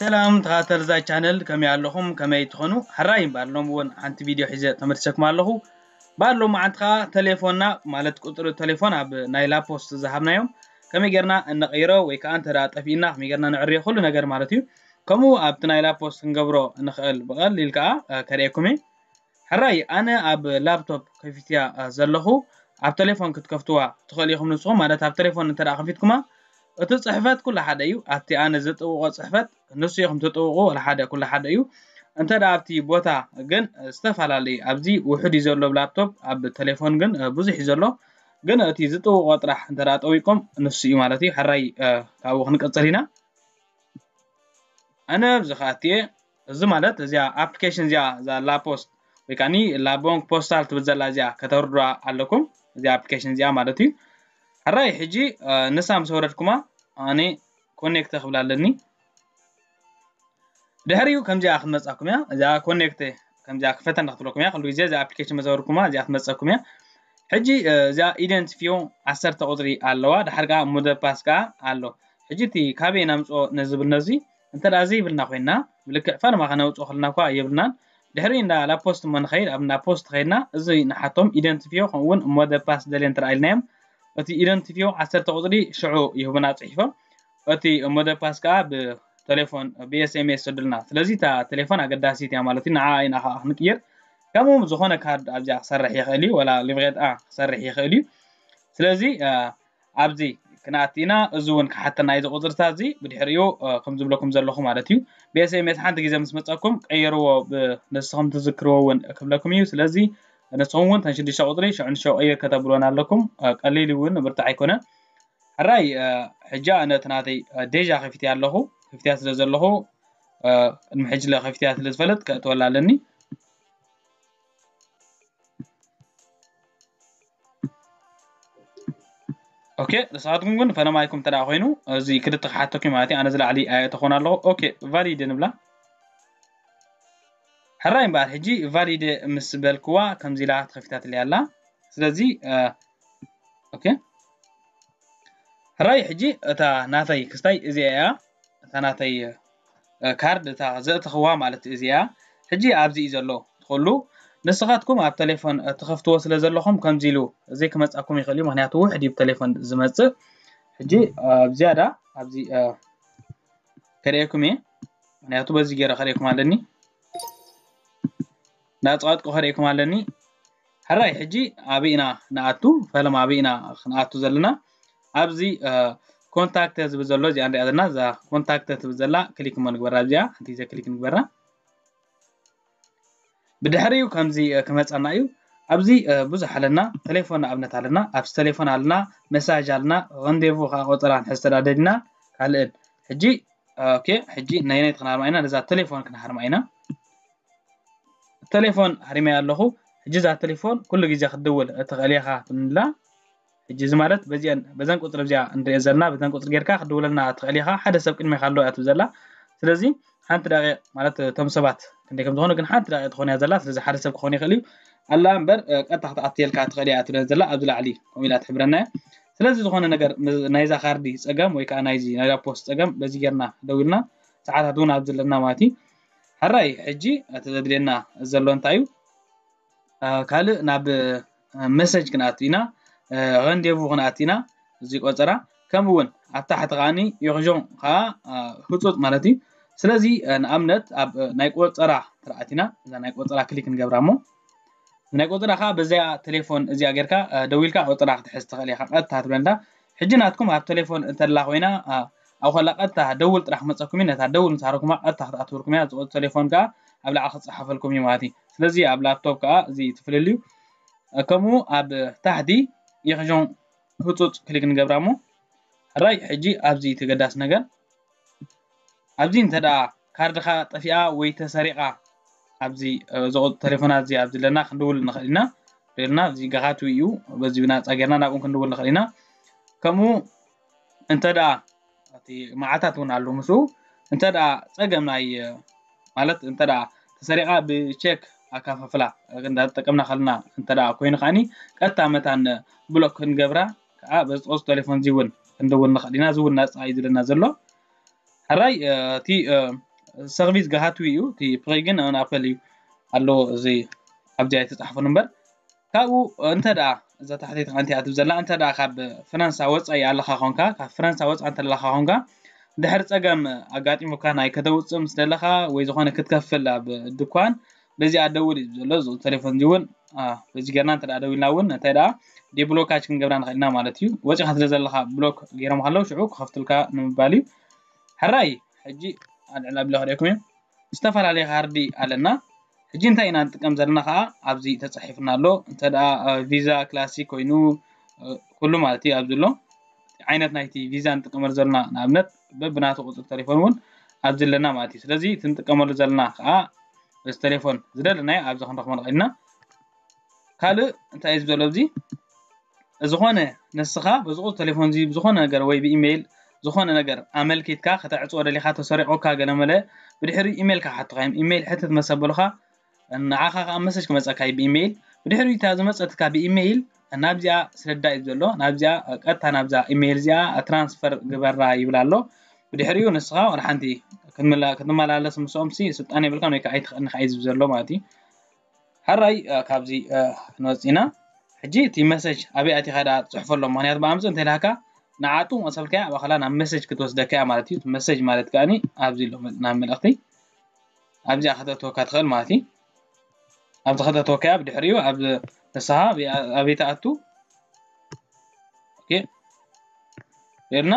ሰላም ተኸታተልቲ እዛ ቻነል፣ ከመይ ኣለኹም? ከመይ ትኾኑ? ሕራይ እምበኣር፣ ሎም እውን ሓንቲ ቪድዮ ሒዘ ተመልሰኩም ኣለኹ። እምበኣር ሎም መዓልቲ ከዓ ተሌፎንና፣ ማለት ቁፅሪ ተሌፎን ኣብ ናይ ላፖስት ዝሃብናዮም ከመይ ጌርና እንቕይሮ ወይ ከዓ እንተ ደኣ ጠፊእና ከመይ ጌርና ንዕርዮ፣ ኩሉ ነገር ማለት እዩ። ከምኡ ኣብቲ ናይ ላፖስት ክንገብሮ ንኽእል ብቐሊል ከዓ፣ እ፣ ከርእየኩም እየ። ሕራይ፣ ኣነ ኣብ ላፕቶፕ ከፊትያ፣ እ፣ ዘለኹ። ኣብ ተሌፎን ክትከፍትዋ ትኽእሉ ኢኹም ንስኹም፣ ማለት ኣብ ተሌፎን እንተ ደኣ ከፊትኩማ፣ እቲ ጽሕፈት ኩሉ ሓደ እዩ። ኣብቲ ኣነ ዝጥውቖ ጽሕፈት ንሱ ኢኹም ትጥውቑ፣ ወላ ሓደ፣ ኩሉ ሓደ እዩ። እንተ ደኣ ኣብቲ ቦታ ግን፣ እ፣ ዝተፈላለዩ፣ ኣብዚ ውሑድ እዩ ዘሎ ብ ላፕቶፕ፣ ኣብ ተሌፎን ግን፣ እ፣ ብዙሕ እዩ ዘሎ። ግን እቲ ዝጥውቖ ጥራሕ እንተ ደኣ ጠዊቆም ንሱ እዩ ማለት እዩ። ሕራይ፣ እ፣ ካብኡ ክንቅጽል ኢና። ኣነ ኣብዚ ከኣትየ፣ እዚ ማለት እዚኣ ኣፕሊኬሽን እዚኣ፣ እዛ ላፖስት ወይ ከዓኒ ላቦንክ ፖስታል ትብል ዘላ እዚኣ ከተውርዱዋ ኣለኩም። እዚኣ ኣፕሊኬሽን እዚኣ ማለት እዩ። ሕራይ ሕጂ፣ እ፣ ንሳ ምስ ኣውረድኩማ ኣነ ኮኔክተ ክብል ኣለኒ። ድሕሪኡ ከምዚኣ ክትመጻኩም እያ። እዚኣ ኮኔክተ ከምዚኣ ክፈተና ክትብለኩም እያ። ኩሉ ግዜ እዚኣ ኣፕሊኬሽን ምስ ኣውረድኩማ እዚኣ ክትመጸኩም እያ። ሕጂ፣ እ፣ እዚኣ ኢደንቲፊዮ ዓሰርተ ቁጽሪ ኣለዋ። ድሓር ከኣ ሞደ ፓስ ከኣ ኣሎ። ሕጂ እቲ ካበይ ነምጽኦ ነዚ ብል ነዚ እንተ ደኣ ዘይብልና ኮይንና፣ ብልክዕ ፈለማ ከነውጽኦ ከለና እኳ የብልናን። ድሕሪ እንዳ ላፖስት እሞ ንኸይድ፣ ኣብ እንዳ ፖስት ከይድና፣ እዚ ንሓቶም ኢደንቲፊዮ ከምኡ እውን ሞደ ፓስ ደልየ እንተ ደኣ ኢልናዮም፣ እቲ ኢደንቲፊዮ ዓሰርተ ቁጽሪ ሽዑ ይህቡና ጽሒፎም። እቲ ሞደ ፓስ ከኣ ብቴሌፎን፣ ብ ኤስ ኤም ኤስ ይሰዱልና። ስለዚ እታ ቴሌፎን ኣገዳሲት እያ ማለት እዩ። ንዓ ኢና ከኣ ክንቅይር። ከምኡ ዝኾነ ካርድ ኣብዚኣ ክሰርሕ ይኽእል እዩ፣ ወላ ሊቭሬት ኣ ክሰርሕ ይኽእል እዩ። ስለዚ፣ እ፣ ኣብዚ ክንኣቲ ኢና። እዚ እውን ክሓተና እዩ፣ እዚ ቁጽርታት እዚ ብድሕሪኡ፣ እ፣ ከም ዝብለኩም ዘለኹ ማለት እዩ። ብ ኤስ ኤም ኤስ ሓንቲ ግዜ ምስ መጸኩም ቀይርዎ፣ ብ-፣ ንስኹም ትዝክርዎ እውን ክብለኩም እዩ። ስለዚ ንስኹም እውን ተን ሽዱሽተ ቁጽሪ ሽዑ ንሽዑ ቀይር ከተብሉወን ኣለኩም። እ፣ ቀሊል እውን ብርታዕ ኣይኮነን። ሕራይ፣ እ፣ ሕጂ ኣነ እቲ ናተይ፣ እ፣ ዴጃ ከፊትያ ኣለኹ። ከፊትያ ስለ ዘለኹ፣ እ፣ ቅድሚ ሕጂ ለ ከፊትያ ስለ ዝፈለጥ ከእትወላ ኣለኒ። ኦኬ፣ ንስኻትኩም ግን ፈለማይኩም እንተ ደኣ ኮይኑ፣ እዚ ክልተ ክሓተኩም ማለት እዩ። ኣነ ዝላዕሊ ኣየእተኹን ኣለኹ። ኦኬ፣ ቫሊድ ንብላ። ሕራይ እምበኣር፣ ሕጂ ቫሊድ ምስ በልክዋ፣ ከምዚ ኢላ ተኸፊታትለይ ኣላ። ስለዚ፣ እ፣ ኦኬ። ሕራይ፣ ሕጂ እታ ናተይ ክስታይ እዚኣ እያ። እታ ናተይ፣ እ፣ ካርድ እታ ዘእተኽዋ ማለት እዚኣ። ሕጂ ኣብዚ እዩ ዘሎ። ትኽእሉ ንስኻትኩም ኣብ ቴሌፎን፣ እ፣ ትኸፍትዎ ስለ ዘለኹም ከምዚ ኢሉ ዘይክመጻኩም ይኽእል እዩ። ምኽንያቱ ውሕድ እዩ ብቴሌፎን ዝመጽእ። ሕጂ፣ እ፣ ኣብ ዝያዳ ኣብዚ፣ እ፣ ከርእየኩም እየ። ምኽንያቱ በዚ ገይረ ከርእየኩም ኣለኒ። እንዳጸቐጥኩ ከርእየኩም ኣለኒ። ሕራይ፣ ሕጂ ኣበይ ኢና ንኣቱ? ፈለማ ኣበይ ኢና ክንኣቱ ዘለና? ኣብዚ፣ እ፣ ኮንታክተ ዝብል ዘሎ፣ እዚኣ ንሪኣ ዘለና፣ እዛ ኮንታክተ ትብል ዘላ ክሊክ እሞ ንግበራ። እዚኣ ሓንቲ ግዜ ክሊክ ንግበራ። ብድሕሪኡ ከምዚ፣ እ፣ ክመጸና እዩ። ኣብዚ፣ እ፣ ብዙሕ ኣለና። ቴሌፎን ንኣብነት ኣለና፣ ኣብዚ ቴሌፎን ኣለና፣ መሳጅ ኣለና፣ ረንዴቩ ከኣ ቆጸራ ንሕዝ ተዳደሊና፣ ካልእን። ሕጂ፣ ኦኬ፣ ሕጂ ናይ ናይቲ ክንሃርማ ኢና፣ ነዛ ቴሌፎን ክንሃርማ ኢና። ቴሌፎን ሃሪመያ ኣለኹ። ሕጂ እዛ ቴሌፎን ኩሉ ግዜ ክትድውል እትኽእል ኢኻ ትብላ። ሕጂ እዚ ማለት በዚአን፣ በዘን ቁጽሪ እዚኣ እንሪኦ ዘለና፣ በዘን ቁጽሪ ጌርካ ክትድውለልና ትኽእል ኢኻ። ሓደ ሰብ ቅድሜኻ ኣሎ እያ ትብል ዘላ። ስለዚ ሓንቲ ደቂቕ ማለት እቶም ሰባት ክንደይ ከም ዝኾኑ ግን ሓንቲ ደቂቕ ትኾን እያ ዘላ። ስለዚ ሓደ ሰብ ክኾን ይኽእል እዩ። ኣላ እምበር፣ እ፣ ቀጥታ ክትኣትየልካ ትኽእል እያ ትብለን ዘላ። ኣብዚ ላዕሊ ከምኡ ኢላ ትሕብረና እያ። ስለዚ ዝኾነ ነገር ም-፣ ናይዛ ካርዲ ጸገም ወይ ከዓ ናይዚ ናይ ላፖስት ጸገም በዚ ጌርና ደዊልና ሰዓታት እውን ኣብዚ ኣለና ማለት እዩ። ሕራይ፣ ሕጂ እቲ ዘድልየና ዘሎ እንታይ እዩ? እ፣ ካልእ ናብ፣ እ፣ መሰጅ ክንኣቱ ኢና፣ እ፣ ረንዴቩ ክንኣቱ ኢና፣ እዚ ቆጸራ። ከምኡ እውን ኣብ ታሕቲ ከዓኒ ዮርዦን ከኣ፣ እ፣ ህጹጽ ማለት እዩ። ስለዚ፣ እ፣ ንኣብነት ኣብ፣ እ፣ ናይ ቆጸራ ትርኣት ኢና፣ እዛ ናይ ቆጸራ ክሊክ ንገብራ እሞ፣ ናይ ቆጸራ ከኣ በዚኣ ቴሌፎን እዚኣ ጌርካ፣ እ፣ ደዊልካ ቆጸራ ክትሕዝ ትኽእል ኢኻ። ቀጥታ ትብለንዳ። ሕጂ ናትኩም ኣብ ቴሌፎን እንተላ ኮይና፣ እ፣ ኣብ ከላ ቀጥታ ደውል ጥራሕ ክመጸኩም እዩ። ነታ ደውል ምስ ሃረኩማ ቀጥታ ክትኣትወልኩም እያ። ዝቆጽ ቴሌፎን ከኣ ኣብ ላዕሊ ክጽሓፈልኩም እዩ ማለት እዩ። ስለዚ ኣብ ላፕቶፕ ከኣ እዚ ትፍልልዩ። እ፣ ከምኡ ኣብ ታሕቲ የኽሾን ህጹጽ ክሊክ ንገብራ እሞ፣ ሕራይ፣ ሕጂ ኣብዚ ተገዳስ ነገር፣ ኣብዚ እንተ ደኣ ካርድኻ ጠፊኣ ወይ ተሰሪቓ፣ ኣብዚ፣ እ፣ ዝቑ-፣ ቴሌፎናት እዚ ኣብዚ ኣለና ክንድውል ንኽእል ኢና። ሪልና፣ እዚ ገኻቱ እዩ። በዚ ብናጻ ጌርና ናብኡ ክንድውል ንኽእል ኢና። ከምኡ እንተ ደኣ፣ እቲ መዓልታት እውን ኣሎ ምስኡ፣ እንተ ደኣ ጸገም ናይ፣ እ፣ ማለት እንተ ደኣ ተሰሪቓ ብቼክ ኣካፋፍላ እንዳተጠቀምና ከለና እንተ ደኣ ኮይኑ ከዓኒ ቀጥታ መታን ብሎክ ክንገብራ ከኣ በዚ ቁጽሪ ቴሌፎን እዚ እውን ክንድውል ንኽእል ኢና። እዚ እውን ናጻ እዩ ዝብለና ዘሎ። ሕራይ፣ እ፣ እቲ፣ እ፣ ሰርቪስ ጋሃትዊ እዩ። እቲ ፕሪ ግን ኣን ኣፐል እዩ ኣሎ፣ እዚ ኣብዚ ኣይተጻሕፈሉ እምበር። ካብኡ እንተ ደኣ እዛ ታሕተይቲ ሓንቲ እያ ትብል ዘላ፣ እንተ ደኣ ካብ ፈረንሳ ወጻኢ ኣለኻ ኾንካ፣ ካብ ፈረንሳ ወጻኢ እንተ ኣለኻ ኾንካ፣ ድሕሪ ጸገም ኣጋጢሙካ ናይ ከተውጽእ ምስ ደለኻ ወይ ዝኾነ ክትከፍል ኣብ ድኳን፣ በዚኣ ደውል እዩ ዘሎ። እዚ ቴሌፎን እዚ እውን፣ አ፣ በዚ ጌርና እንተ ደኣ ደዊልና እውን፣ እንታይ ደኣ ዲብሎካች ክንገብራ ንኽእል ኢና ማለት እዩ። ወጺኻ ስለ ዘለኻ ብሎክ ገይሮም ከለዉ ሽዑ ክኸፍቱልካ ንምባል እዩ። ሕራይ፣ ሕጂ ኣልዕል ኣቢለ ክርእየኩም እየ። ዝተፈላለየ ካርዲ ኣለና። ሕጂ እንታይ ኢና ንጥቀም ዘለና ከዓ ኣብዚ ተጻሒፍና ኣሎ። እንተ ደኣ፣ እ፣ ቪዛ ክላሲክ ኮይኑ፣ እ፣ ኩሉ ማለት እዩ ኣብዚ ኣሎ። ዓይነት ናይቲ ቪዛ ንጥቀመሉ ዘለና ንኣብነት በብናቱ ቁጽሪ ቴሌፎን እውን ኣብዚ ኣለና ማለት እዩ። ስለዚ እቲ ንጥቀመሉ ዘለና ከዓ በዚ ቴሌፎን ዝደለናዮ ኣብዚ ክንረኽቦ ንኽእል ኢና። ካልእ እንታይ እዩ ዘሎ ኣብዚ? ዝኾነ ንስኻ በዚ ቁጽሪ ቴሌፎን እዚ ብዝኾነ ነገር ወይ ብኢሜይል ዝኾነ ነገር ኣመልኪትካ ከተዕጽዎ ደሊኻ ተሰሪቑካ ገለመለ ብድሕሪኡ ኢሜይል ክሓቱኻ እዮም። ኢሜይል ሕትት መሰ በሉኻ ንዓኻ ከዓ መሰጅ ክመጸካ እዩ ብኢሜይል። ብድሕሪኡ እታ ዝመጸትካ ብኢሜይል ናብዚኣ ስደዳ እዩ ዘሎ። ናብዚኣ ቀጥታ ናብዛ ኢሜይል እዚኣ ትራንስፈር ግበራ ይብል ኣሎ። ብድሕሪኡ ንስኻ ዋላ ሓንቲ ክትምላ-፣ ክትመላለስ ምስኦም ሲ ስልጣን የብልካን ወይ ከዓ ኣይትኽእልን ኢኻ እዩ ዝብል ዘሎ ማለት እዩ። ሕራይ፣ እ፣ ካብዚ፣ እ፣ ክንወጽእ ኢና። ሕጂ እቲ መሰጅ ኣበይ ኣቲኻ ደኣ ትጽሕፎ ኣሎ? ምኽንያቱ ብኣምጽእ እንተ ኢልካ ንዓጡ መሰልካ እያ፣ ባዕላ ናብ መሰጅ ክትወስደካ እያ ማለት እዩ። እቲ መሰጅ ማለት ከኣኒ ኣብዚ ኣሎ መ-፣ ናብ መልእኽቲ ኣብዚኣ ከተእትወካ ትኽእል ማለት እዩ። ኣብዚ ከተእትወካ እያ፣ ብድሕሪኡ ኣብ ንስኻ ኣበይ፣ ኣበይ ትኣቱ? ኦኬ። ርና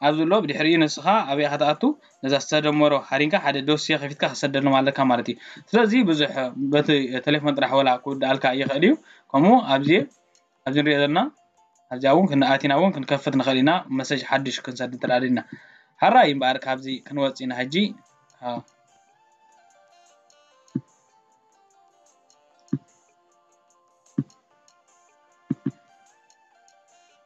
ኣብዚ ኣሎ ብድሕሪኡ ንስኻ ኣበይ ኢኻ ትኣቱ? ነዛ ዝተደመሮ ሃሪንካ ሓደ ዶሴ ከፊትካ ክሰደሎም ኣለካ ማለት እዩ። ስለዚ ብዙሕ በቲ ቴሌፎን ጥራሕ ወላ ክውድኣልካ ይኽእል እዩ። ከምኡ ኣብዚ፣ ኣብዚ ንሪኦ ዘለና ኣብዚኣ እውን ክንኣቲና እውን ክንከፍት ንኽእል ኢና። መሰጅ ሓድሽ ክንሰድ እንተ ደኣ ደሊና። ሕራይ እምበኣር ካብዚ ክንወጽእ ኢና ሕጂ። አ።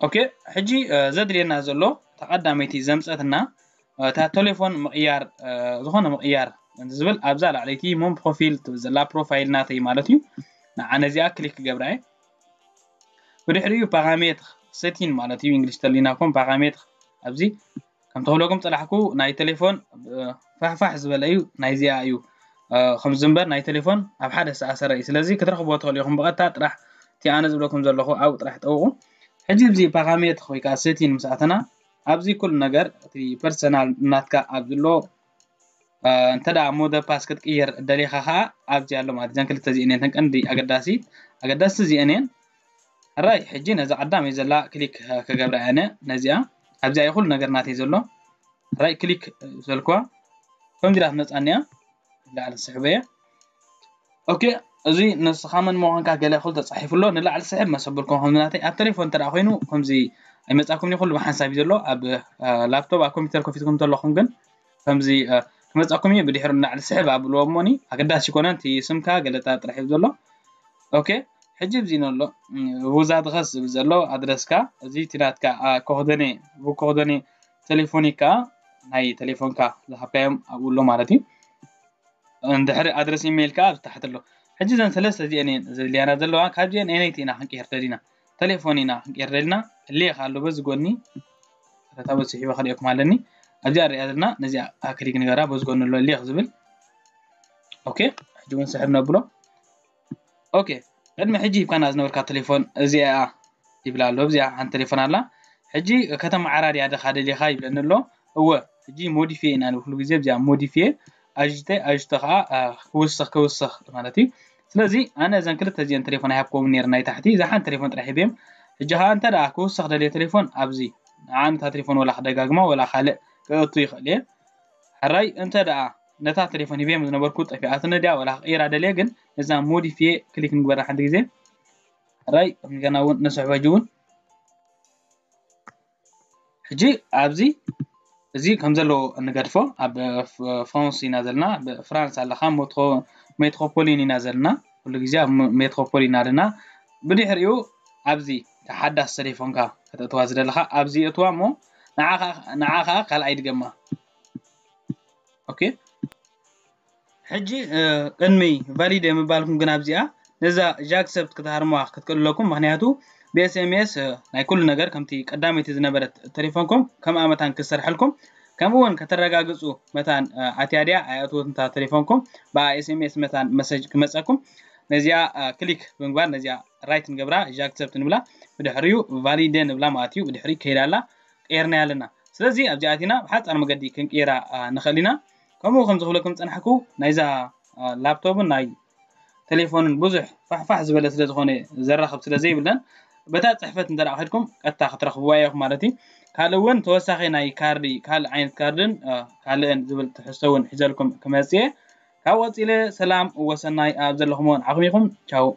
ኦኬ፣ ሕጂ፣ እ፣ ዘድልየና ዘሎ እታ ቀዳመይቲ ዘምጸትና፣ እ፣ እታ ቴሌፎን ምቕያር፣ እ፣ ዝኾነ ምቕያር ዝብል ኣብዛ ላዕለይቲ ሞን ፕሮፊል ትብል ዘላ ፕሮፋይል ናተይ ማለት እዩ። ንዓ ነዚኣ ክሊክ ክገብራ እየ። ብድሕሪኡ ፓራሜትር ሴቲን ማለት እዩ፣ እንግሊሽ ተሊናኩም ፓራሜትር ኣብዚ ከም ተኽለኩም ጸላሕኩ ናይ ቴሌፎን፣ እ፣ ፋሕፋሕ ዝበለ እዩ፣ ናይዚኣ እዩ። እ፣ ከምዚ እምበር ናይ ቴሌፎን ኣብ ሓደ ዝተኣሰረ እዩ። ስለዚ ክትረኽብዎ ትኽእሉ ኢኹም ብቐጥታ ጥራሕ እቲ ኣነ ዝብለኩም ዘለኹ ኣብኡ ጥራሕ ጠውቑ። ሕጂ እዚ ፓራሜትር ወይ ከዓ ሴቲን ምስ ኣተና ኣብዚ ኩሉ ነገር እቲ ፐርሰናል ናትካ ኣብ ዘሎ፣ እ፣ እንተ ደኣ ሞደ ፓስ ክትቅይር ደሊኻ ኸዓ ኣብዚ ኣሎ ማለት እዘን ክልተ እዚአን እየን እተን ቀንዲ ኣገዳሲ፣ ኣገዳስቲ እዚአን እየን። ሕራይ፣ ሕጂ ነዛ ቀዳመይ ዘላ ክሊክ ክገብራ እየ ኣነ ነዚኣ። ኣብዚኣ እዩ ኩሉ ነገር ናተይ ዘሎ። ሕራይ ክሊክ ዘልኳ ከምዚ ኢላ ትመጻኒ እያ። ላዕሊ ስሕበ እየ። ኦኬ፣ እዚ ንስኻ መን ምዃንካ ገለ ኩሉ ተጻሒፉ ኣሎ። ንላዕሊ ስሕብ መሰብልኩም ከምዚ ናተይ ኣብ ቴሌፎን እንተ ደኣ ኮይኑ ከምዚ ኣይመጻኩም ይኹሉ ብሓንሳብ እዩ ዘሎ። ኣብ፣ እ፣ ላፕቶፕ ኣብ ኮምፒውተር ከፊትኩም እንተለኹም ግን ከምዚ፣ እ፣ ክመጻኩም እዩ። ብድሕሪ ንላዕሊ ስሕብ ኣብልዎ እሞኒ ኣገዳሲ ይኮነን። እቲ ስምካ ገለታ ጥራሕ እዩ ዘሎ። ኦኬ፣ ሕጂ ኣብዚ ነሎ፣ ም፣ ቡዛ ድኸስ ዝብል ዘሎ ኣድረስካ፣ እዚ እቲ ናትካ፣ አ፣ ኮኽደኔ፣ ብኮኽደኔ ቴሌፎኒካ፣ ናይ ቴሌፎንካ ዝሃብካዮም ኣብኡ ኣሎ ማለት እዩ። እንድሕሪ ኣድረስ ኢሜይል ከኣ ኣብ ታሕቲ ኣሎ። ሕጂ እዘን ሰለስተ እዚአን እየን ዘድልያና ዘለዋ። ካብዚአን ኣየነይቲ ኢና ክንቅየር ደሊና? ቴሌፎን ኢና ክንቅየር ደሊና። ሌኽ ኣሎ በዚ ጎኒ፣ ረታ በዚ ስሒበ ከርእየኩም ኣለኒ። ኣብዚኣ ንሪኣ ዘለና፣ ነዚኣ ክሊክ ንገራ፣ በዚ ጎኒ ኣሎ ሌኽ ዝብል። ኦኬ፣ ሕጂ እውን ስሕብ ነብሎ። ኦኬ፣ ቅድሚ ሕጂ ሂብካና ዝነበርካ ቴሌፎን እዚኣ እያ ይብላ ኣሎ። እዚኣ ሓንቲ ቴሌፎን ኣላ። ሕጂ ከተመዓራርያ ዲኻ ደሊኻ ይብለኒ ኣሎ። እወ፣ ሕጂ ሞዲፊየ ኢና ንብል ኩሉ ግዜ። እዚኣ ሞዲፊየ፣ ኣጅተ፣ ኣጅተ ኸዓ፣ አ፣ ክውስኽ፣ ክውስኽ ማለት እዩ። ስለዚ ኣነ እዘን ክልተ እዚአን ቴሌፎን ኣይሃብክዎምን ነይረ ናይ ታሕቲ። እዛ ሓንቲ ቴሌፎን ጥራሕ ሂበዮም። ሕጂ ኸዓ እንተ ደኣ ክውስኽ ደልየ ቴሌፎን ኣብዚ፣ ንዓ ነታ ቴሌፎን ወላ ክደጋግማ ወላ ካልእ ክእቱ ይኽእል እየ። ሕራይ እንተ ደኣ ነታ ቴሌፎን ሂበዮም ዝነበርኩ ጠፊኣትኒ ድያ ወላ ክቕይራ ደልየ፣ ግን ነዛ ሞዲፊየ ክሊክ ንግበራ ሓንቲ ግዜ። ሕራይ እንደገና እውን ንስሕቦ ሕጂ እውን። ሕጂ ኣብዚ እዚ ከም ዘለዎ ንገድፎ። ኣብ፣ እ፣ ፍ-፣ ፍራንስ ኢና ዘለና፣ ኣብ ፍራንስ ኣለኻ፣ ሞትሮ-፣ ሜትሮፖሊን ኢና ዘለና፣ ኩሉ ግዜ ኣብ ሜ-፣ ሜትሮፖሊን ኣለና። ብድሕሪኡ ኣብዚ እታ ሓዳስ ቴሌፎንካ ከተእትዋ ዝደለኻ ኣብዚ እትዋ እሞ ንዓኻ፣ ንዓኻ ካልኣይ ድገማ። ኦኬ። ሕጂ፣ እ፣ ቅድሚ ቫሊድ ምባልኩም ግን ኣብዚኣ ነዛ ጃክሰፕት ክትሃርሙዋ ክትክእሉ ኣለኩም። ምኽንያቱ ብ ኤስ ኤም ኤስ፣ እ፣ ናይ ኩሉ ነገር ከምቲ ቀዳመይቲ ዝነበረት ቴሌፎንኩም ከም ኣመታን ክሰርሐልኩም ከምኡ እውን ከተረጋግፁ መታን ኣትያ ድያ ኣይኣትወትን እታ ቴሌፎንኩም ብኣ ኤስኤምኤስ መታን መሰጅ ክመፀኩም ነዚኣ ክሊክ ብምግባር ነዚኣ ራይት ንገብራ እዛ ኣክሰፕት ንብላ ብድሕሪኡ ቫሊደ ንብላ ማለት እዩ ብድሕሪ ከይዳ ኣላ ቀይርናያ ኣለና ስለዚ ኣብዚኣ ኣቲና ብሓፃር መገዲ ክንቀይራ ንኽእል ኢና ከምኡ ከም ዝኽብለኩም ፀናሕኩ ናይዛ ላፕቶፕን ናይ ቴሌፎንን ብዙሕ ፋሕፋሕ ዝበለ ስለ ዝኾነ ዘራኽብ ስለ ዘይብለን በታ ፅሕፈት እንተ ከድኩም ቀጥታ ክትረኽብዋ ኢኹም ማለት እዩ ካልእ እውን ተወሳኺ ናይ ካርዲ ካልእ ዓይነት ካርድን ካልእን ዝብል ትሕዝቶ እውን ሒዘልኩም ክመፅእ ካብ ቀፂለ ሰላም ወሰናይ ኣብ ዘለኹምዎ ንዓኹም ኢኹም ቻው